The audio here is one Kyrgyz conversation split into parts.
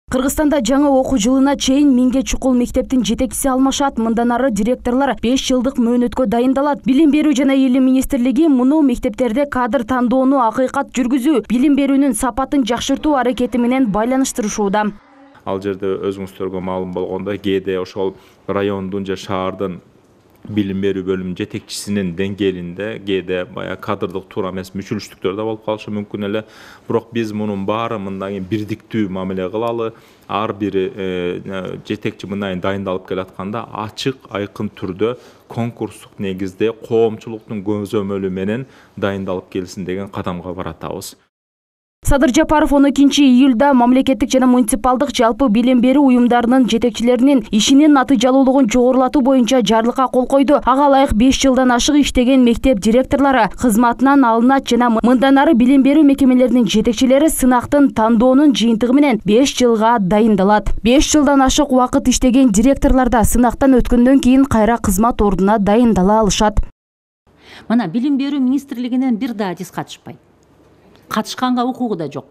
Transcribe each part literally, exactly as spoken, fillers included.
Кыргызстанда жаңы окуу жылына чейин миңге чукул мектептин жетекчиси алмашат. Мындан ары директорлор беш жылдык мөөнөткө дайындалат. Билим берүү жана илим министрлиги муну мектептерде кадр тандоону акыйкат жүргүзүү, билим берүүнүн сапатын жакшыртуу аракети менен байланыштырышууда. Ал жерде өзүңүздөргө маалым болгондой, кээде ошол райондун же шаардын билим берүү бөлүмүнүн жетекчисинин деңгээлинде кээде баягы кадрдык туура эмес мүчүлүштүктөр да болуп калышы мүмкүн эле. Бирок биз мунун баары мындан кийин бирдиктүү мамиле кылалы. Ар бири жетекчи мындан кийин дайындалып келатканда ачык, айкын түрдө конкурстук негизде коомчулуктун көзөмөлү менен дайындалып келсин деген кадамга баратабыз. Садыр Жапаров он экинчи июлда мамлекеттик жана муниципалдык жалпы билим берүү уюмдарынын жетекчилеринин ишинин натыйжалуулугун жогорулатуу боюнча жарлыкка кол койду. Ага ылайык беш жылдан ашык иштеген мектеп директорлору кызматынан алынат жана мындан ары билим берүү мекемелеринин жетекчилери сынактын тандоонун жыйынтыгы менен беш жылга дайындалат. беш жылдан ашык убакыт иштеген директорлор да сынактан өткөндөн кийин кайра кызмат ордуна дайындала алышат. Мына билим берүү министрлигинен бир да адис катышпайт. Катышканга укугу да жок.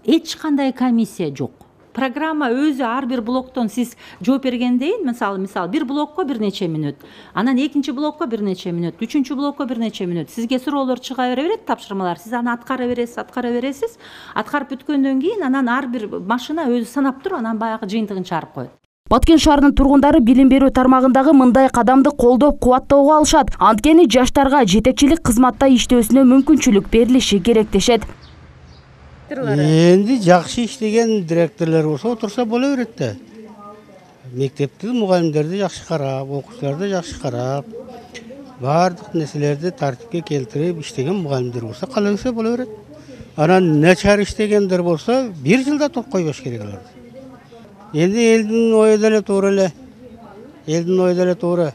Эч кандай комиссия жок. Программа өзү ар бир блоктон сиз жооп бергендейин, мисалы, мисалы бир блокко бир нече мүнөт, анан экинчи блокко бир нече мүнөт, үчүнчү блокко бир нече мүнөт. Сизге суроолор чыга берет, тапшырмалар. Сиз аны аткара бересиз, аткара бересиз. Аткарып бүткөндөн кийин анан ар бир машина өзү санап туруп, анан баягы жыйынтыгын чыгарып коет. Баткен шаарынын тургундары билим берүү тармагындагы мындай кадамды колдоп кубаттоого алышат. Анткени жаштарга жетекчилик кызматта иштөөсүнө мүмкүнчүлүк берилиши керек дешет. Энди жакшы иштеген директорлор болсо отурса боло берет да. Мектептин мугалимдерди жакшы карап, окуучуларды жакшы карап, баардык нерселерди тартипке келтирип иштеген мугалимдер болсо кала берсе боло берет. Анан начар иштегендер болсо бир жылда топ койбош керек алар. Енді елдің ойы деле туура эле. Елдің ойы деле туура.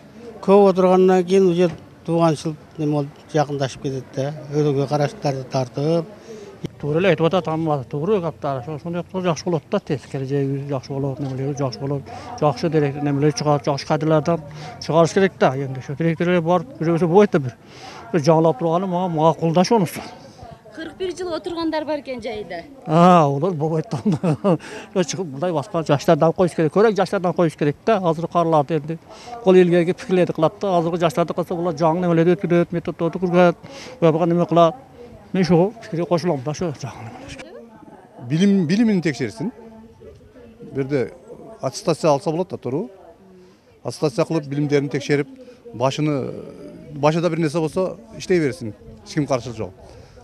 Көп отургандан кийин уже тууганчылык неме болуп жакындашып кетет да. Өзгө караштарды тартып. Туура эле айтып атат, амма туура каптар. Ошондой жакшы болот да, тез келечеги жакшы болот, немелери жакшы болот. Жакшы директор немелер чыгат, жакшы кадрлардан чыгарыш керек да. Эми ошо директорлор барып жүрөсө болбойт да бир. Жаңылап турганы мага мага колдош онусу. кырк бир жыл отургандар бар экен жайда. А, олар болбойт да. Чыгып мындай башка жаштардан коюш керек. Көрөк жаштардан коюш керек да. Азыр карларды энди кол илгерге пикирлерди кылат да. Азыркы жаштарды кылса булар жаңы немелерди өткөрөт, методдорду кургат, буга неме кылат. Мен ошого пикирге кошулам да, ошо жаңы немелер. Билим билимин текшерсин. Бирде аттестация алса болот да, туурабы? Аттестация кылып билимдерин текшерип, башыны башыда бир нерсе болсо иштей берсин. Эч ким каршылык жок.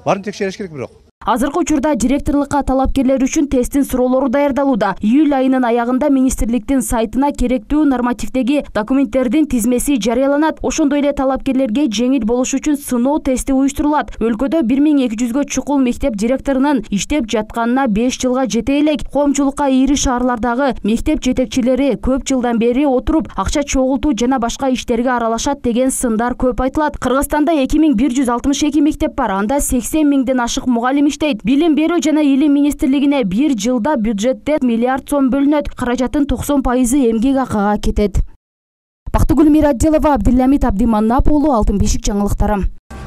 Барын текшериш керек бирок. Азыркы учурда директорлукка талапкерлер үчүн тесттин суроолору даярдалууда. Июль айынын аягында министрликтин сайтына керектүү нормативдеги документтердин тизмеси жарыяланат. Ошондой эле талапкерлерге жеңил болуш үчүн сыноо тести уюштурулат. Өлкөдө бир миң эки жүзгө чукул мектеп директорунун иштеп жатканына беш жылга жете элек. Коомчулукка ири шаарлардагы мектеп жетекчилери көп жылдан бери отуруп, акча чогултуу жана башка иштерге аралашат деген сындар көп айтылат. Кыргызстанда эки миң бир жүз алтымыш эки мектеп бар. Анда сексен миңден ашык мугалим иштейт. Билим берүү жана илим министрлигине бир жылда бюджетте миллиард сом бөлүнөт. Каражаттын токсон пайызы эмгек акыга кетет. Бактыгүл Мирадилова, Абдилламит Абдиманап уулу, Алтын бешик жаңылыктары.